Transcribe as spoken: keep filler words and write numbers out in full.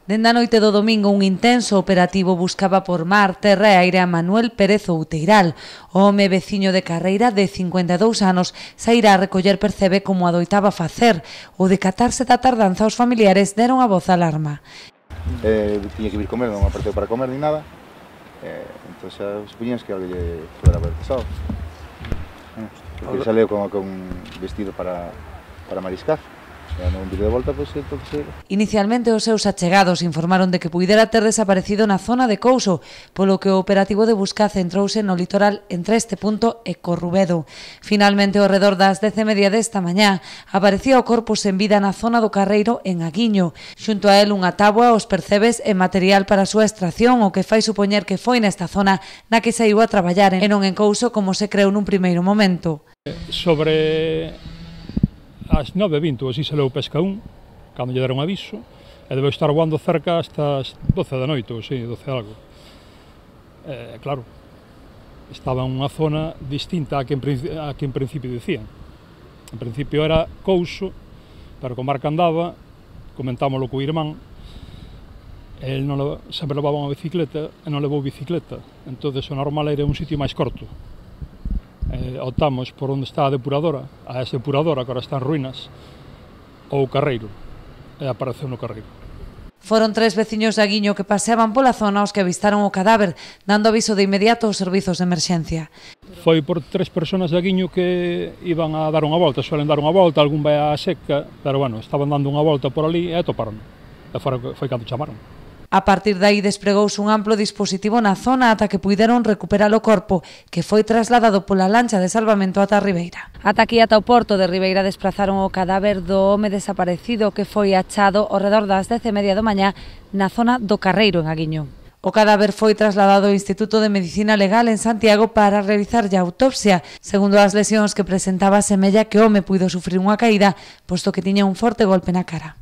Dende a noite do domingo un intenso operativo buscaba por mar, terra e aire a Manuel Pérez Outeiral. O home veciño de Carreira de cincuenta e dous anos sairá a recoller percebe como adoitaba facer. O decatarse da tardanza os familiares deron a voz alarma. Eh, tiña que vir comer, non apareceu para comer ni nada. Eh, entón xa supoñíamos que algo lle podera haber pasado. Eh, porque saleu con, con vestido para, para mariscar. De volta, pues, entonces... Inicialmente os seus achegados informaron de que puidera ter desaparecido na zona de Couso, polo que o operativo de busca centrouse no litoral entre este punto e Corrubedo. Finalmente, ao redor das dez e media desta mañá, aparecía o corpo sen vida na zona do Carreiro en Aguiño. Xunto a él unha táboa, os percebes e material para a súa extracción, o que fai supoñer que foi nesta zona na que saiu a traballar e non en Couso como se creou nun primeiro momento. Sobre... As nove e vinte, así se leu pesca un, cando lle deron aviso, e debeu estar voando cerca hasta as doce da noite, ou si, doce algo. E, claro, estaba en unha zona distinta a que en, a que en principio dicían. En principio era Couso, pero como Marca andaba, comentámoslo co irmán, el non, sempre levaba unha bicicleta e non levou bicicleta, entón o normal era un sitio máis corto. Eh, optamos por onde está a depuradora, a esa depuradora que agora está en ruínas, ou o Carreiro, e apareceu no Carreiro. Foron tres veciños de Aguiño que paseaban pola zona os que avistaron o cadáver, dando aviso de inmediato aos servizos de emerxencia. Foi por tres persoas de Aguiño que iban a dar unha volta, suelen dar unha volta, algún vai á seca, pero bueno, estaban dando unha volta por ali e atoparon. E foi cando chamaron. A partir de aí despregouse un amplo dispositivo na zona ata que puideron recuperar o corpo, que foi trasladado pola lancha de salvamento ata Ribeira. Ata aquí, ata o porto de Ribeira, desplazaron o cadáver do home desaparecido que foi achado ao redor das dez e media da mañá na zona do Carreiro, en Aguiño. O cadáver foi trasladado ao Instituto de Medicina Legal en Santiago para realizarlle a autopsia. Segundo as lesións que presentaba, semella que o home puido sufrir unha caída, posto que tiña un forte golpe na cara.